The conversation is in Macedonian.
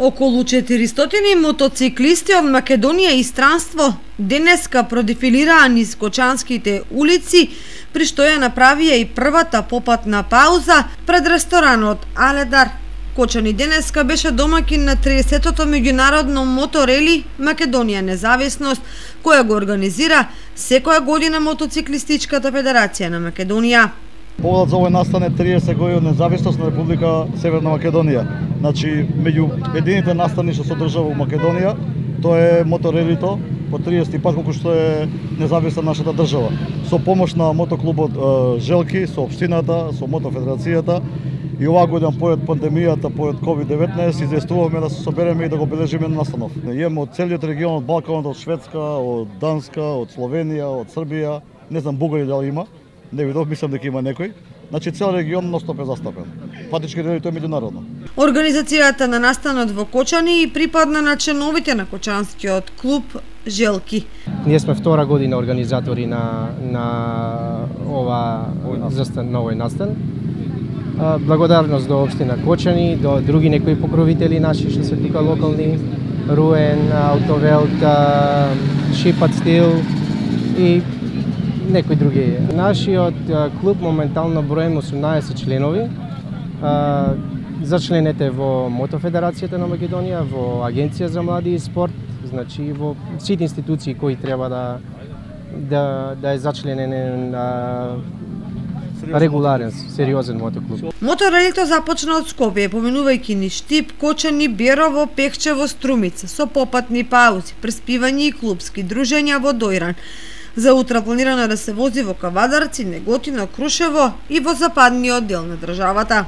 Околу 400 мотоциклисти од Македонија и странство денеска продефилираа низ кочанските улици, при што ја направија и првата попатна пауза пред ресторанот Аледар. Кочани денеска беше домаќин на 30-тото меѓународно моторели Македонија независност, која го организира секоја година Мотоциклистичката федерација на Македонија. Поводот за овој настан е 30 години од независност на Република Северна Македонија. Значи, меѓу едините настани што се одржава во Македонија, тоа е моторелито по 30 пат колку што е независна нашата држава. Со помош на мотоклубот Желки, со општината, со Мотофедерацијата и оваа година поред пандемијата, поред COVID-19, известувавме да се собереме и да го бележиме настанов. Имаме од целиот регион, од Балканот, од Шведска, од Данска, од Словенија, од Србија, не знам Бугарија дали има. Не видов, мислам дека има некој. Значи цел регион ностопе застапен. Фактички тоа е меѓународно. Организацијата на настанот во Кочани и припадна на членовите на Кочанскиот клуб Желки. Ние сме втора година организатори на овој настан. Благодарност до општина Кочани, до други некои покровители наши што се тика локални, Руен, Автовелт, Шипат Стил и некои други. Нашиот клуб моментално броим 18 членови. Зачленете во Мотофедерацијата на Македонија, во Агенција за млади и спорт, значи во сите институции кои треба да е зачленен регуларен, сериозен мотоклуб. Моторелито започна од Скопје, поминувајќи низ Штип, Кочани, Берово, Пехчево, Струмица, со попатни паузи, преспивања и клубски дружења во Дојран. За утре планирано да се вози во Кавадарци, Неготино, Крушево и во западниот дел на државата.